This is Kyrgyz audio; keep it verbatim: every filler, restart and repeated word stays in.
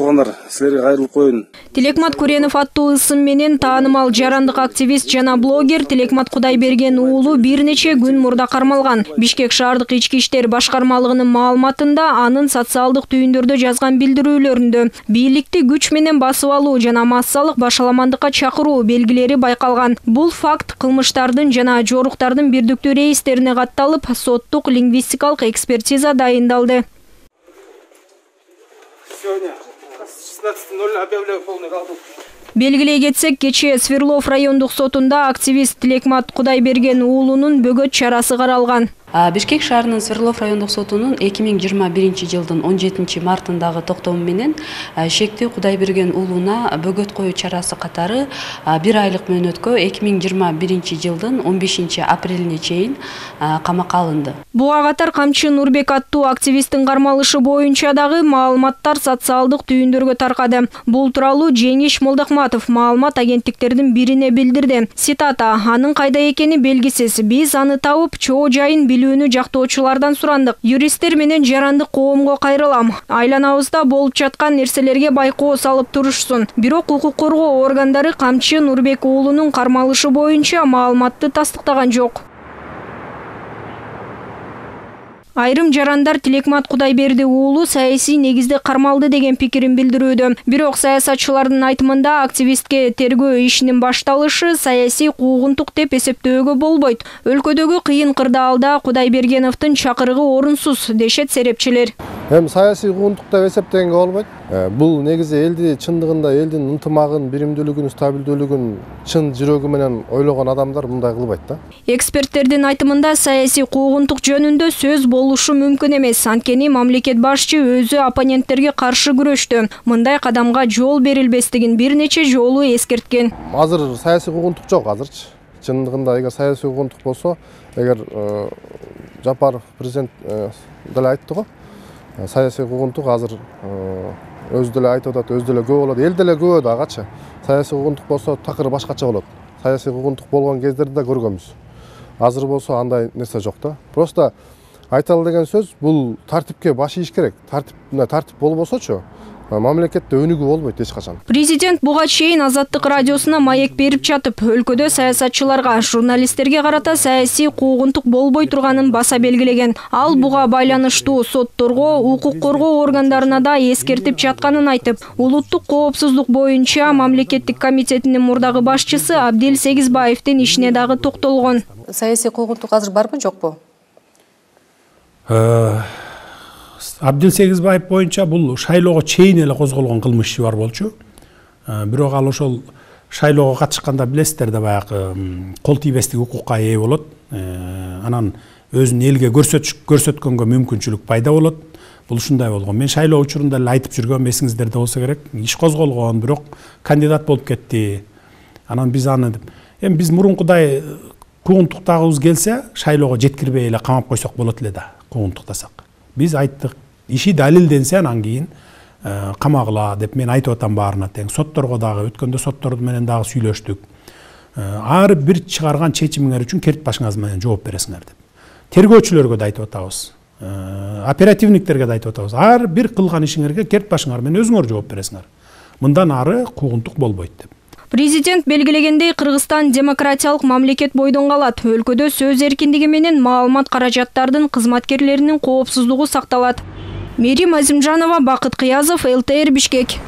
туугандар, силерге кайрылып коеюн. Тилекмат Куренов аттуу ысым менен таанымал жарандык активист жана блогер Тилекмат Кудайберген уулу бир нече күн мурда кармалган. Бишкек шаардык ички иштер башкармалыгынын маалыматында анын социалдык түйүндөрдө жазган билдирүүлөрүндө бийликти күч менен басып алуу жана массалык башаламандыкка чакыруу белгилери байкалган. Бул факт кылмыштардын жана жоруктардын бирдиктүү рейстерине катталып, соттук лингвистикалык экспертиза дайындалды. Сегодня с шестнадцати ноль объявляю полный раздел. Белгилей кетсек, кечээ Сверлов райондук сотунда активист Тилекмат Кудайберген уулунун бөгөт чарасы каралган. Бишкек шаарынын Сверлов райондук сотунун эки миң жыйырма биринчи жылдын он жетинчи мартындагы токтому менен шектүү Кудайберген уулуна бөгөт коюу чарасы катары бир айлык мөөнөткө эки миң жыйырма биринчи жылдын он бешинчи апрелине чейин камакка алынды. Буга катар Камчы Нурбек аттуу активисттин кармалышы боюнча дагы маалыматтар социалдык түйүндөргө таркады. Бул тууралуу Жеңиш Молдохматов маалымат агенттиктердин бирине билдирди. Цитата: "Анын кайда экени белгисиз. Биз аны табып, чоо жайын билүүнү жактоочулардан сурандык. Юристтер менен жарандык коомго кайрылам. Айланабызда болуп жаткан нерселерге байкоо салып турушсун." Бирок укук коргоо органдары Камчы Нурбек уулунун кармалышы боюнча маалыматты тастыктаган жок. Айрым жарандар Тилекмат Кудайберди уулу саясий негизде кармалды деген пикирин билдирүүдө. Бирок саясатчылардын айтымында активистке тергөө ишинин башталышы саясий куугунтук деп эсептөөгө болбойт. Өлкөдөгү кыйын кырдаалда Кудайбергеновдун чакырыгы орунсуз дешет серепчилер. Эми саясий куугунтук деп эсептегенге болбойт. Бул негизи элди чындыгында элдин ынтымагын, биримдүүлүгүн, стабилдүүлүгүн чын жүрөгү менен ойлогон адамдар мындай кылбайт да. Эксперттердин айтымында саясий куугунтук жөнүндө сөз болушу мүмкүн эмес. Анткени мамлекет башчы өзү оппоненттерге каршы күрөштү. Мындай кадамга жол берилбестигин бир нече жолу эскерткен. Азыр саясий куугунтук жок азырчы. Чындыгында эгер саясий куугунтук болсо, эгер Жапаров президент деле айтты го, саясий куугунтук азыр өзү деле айтып атат, өзү деле көп болот, эл деле көп агачы. Саясий куугунтук болсо такыр башкача болот. Саясий куугунтук болгон кездерди да көргөнбүз. Азыр болсо андай нерсе жок да. Просто айталы деген сөз бул тартипке баш ийиш керек. Тартип мына тартип болбосочу мамлекетте өнүгүү болбойт эч качан. Президент буга чейин Азаттык радиосуна маек берип жатып, өлкөдө саясатчыларга, журналисттерге карата саясий куугунтук болбой турганын баса белгилеген. Ал буга байланыштуу сотторго, укук коргоо органдарына да эскертип жатканын айтып, улуттук коопсуздук боюнча мамлекеттик комитетинин мурдагы башчысы Абдил Сегизбаевдин ишине дагы токтолгон. Саясий куугунтук азыр барбы, жокпу? Абдил Сегизбаев боюнча бул шайлоого чейин эле козголгон кылмыш иши бар болчу. Бирок ал ошол шайлоого катышканда билесиздер да баягы кол тийбестик укукка ээ болот. Анан өзүн элге көрсөткөнгө мүмкүнчүлүк пайда болот. Бул ушундай болгон. Мен шайлоо учурунда эле айтып жүргөм, эсиңиздерде болсо керек. Иш козголгон, бирок кандидат болуп кетти. Анан биз аны эми биз мурункудай куугунтуктагыбыз келсе, шайлоого жеткирбей эле камап койсок болот эле да, куугунтуктасак. Биз айттык, иши далилденсе анан кийин камагыла деп мен айтып атам баарына тең. Сотторго дагы өткөндө сотторду менен дагы сүйлөштүк. Ар бир чыгарган чечимиңер үчүн керт башыңыз менен жооп бересиңер деп. Тергөөчүлөргө да айтып атабыз. Оперативниктерге да айтып атабыз. Ар бир кылган ишиңерге керт башыңар менен өзүңөр жооп бересиңер. Мындан ары куугунтук болбойт деп. Президент белгилегендей, Кыргызстан демократиялык мамлекет бойдон калат. Өлкөдө сөз эркиндиги менен маалымат каражаттардын кызматкерлеринин коопсуздугу сакталат. Мерим Азимжанова, Бакыт Кыязов, эл тэ эр Бишкек.